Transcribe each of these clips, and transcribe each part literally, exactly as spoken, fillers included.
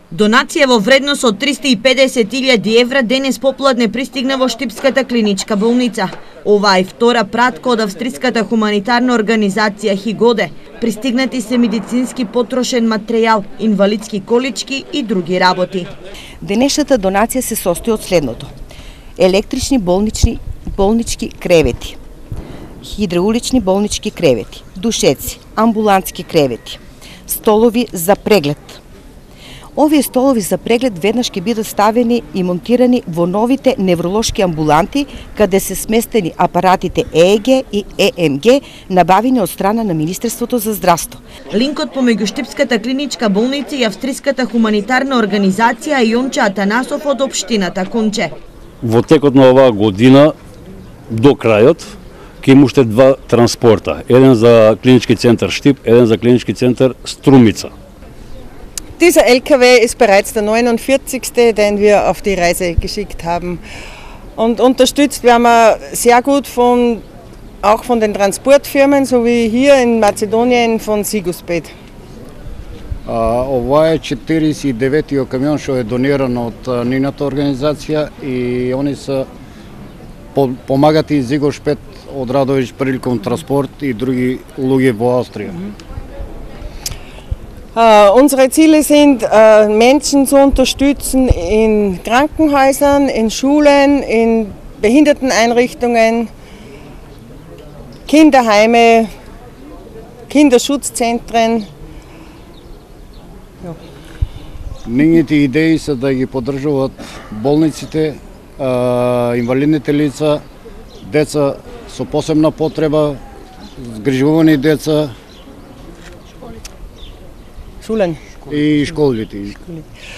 Донација во вредност од триста и педесет илјади евра денес попладне пристигна во Штипската клиничка болница. Ова е втора пратка од австриската хуманитарна организација Хигоде. Пристигнати се медицински потрошен материјал, инвалидски колички и други работи. Денешната донација се состои од следното: електрични болнични болнички кревети, хидраулични болнички кревети, душеци, амбулантски кревети, столови за преглед. Овие столови за преглед веднаш ќе бидат ставени и монтирани во новите невролошки амбуланти, каде се сместени апаратите Е Е Ге и Е Ем Ге, набавени од страна на Министерството за здравство. Линкот помеѓу Штипската клиничка болница и австриската хуманитарна организација е Јонче Атанасов од општината Конче. Во текот на оваа година до крајот ќе има уште два транспорта, еден за клинички центар Штип, еден за kliniski центар Strumica. Dieser L K W ist bereits der neunundvierzigste, den wir auf die Reise geschickt haben. Und unterstützt werden wir sehr gut von, auch von den Transportfirmen, so wie hier in Mazedonien von Sigusbed. Ова е четиридесет и деветиот камион што е дониран од нивната организација и они се помагат и Sigusbed од Радович приликом транспорт и други луѓе во Австрија. Uh, unsere Ziele sind, uh, Menschen zu unterstützen in Krankenhäusern, in Schulen, in Behinderteneinrichtungen, Kinderheime, Kinderschutzzentren. Ja. Нивните идеи се да ги поддржуваат болниците, uh, инвалидните лица, деца со посебна потреба, згрижувани деца, и школите.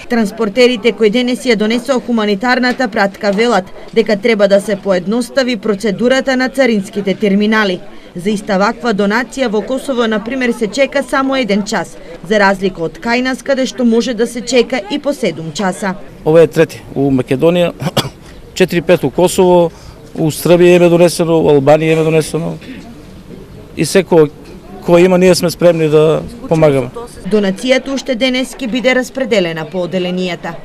Транспортерите кои денес ја донесоа хуманитарната пратка велат дека треба да се поедностави процедурата на царинските терминали. За иста ваква донација во Косово, например, се чека само еден час, за разлика од кај нас, каде што може да се чека и по седум часа. Ова е трети у Македонија, четири-пет у Косово, у Србија е донесено, у Албанија е донесено и секој кој има, ние сме спремни да помагаме. Донацијата уште денес ќе биде распределена по оделенијата.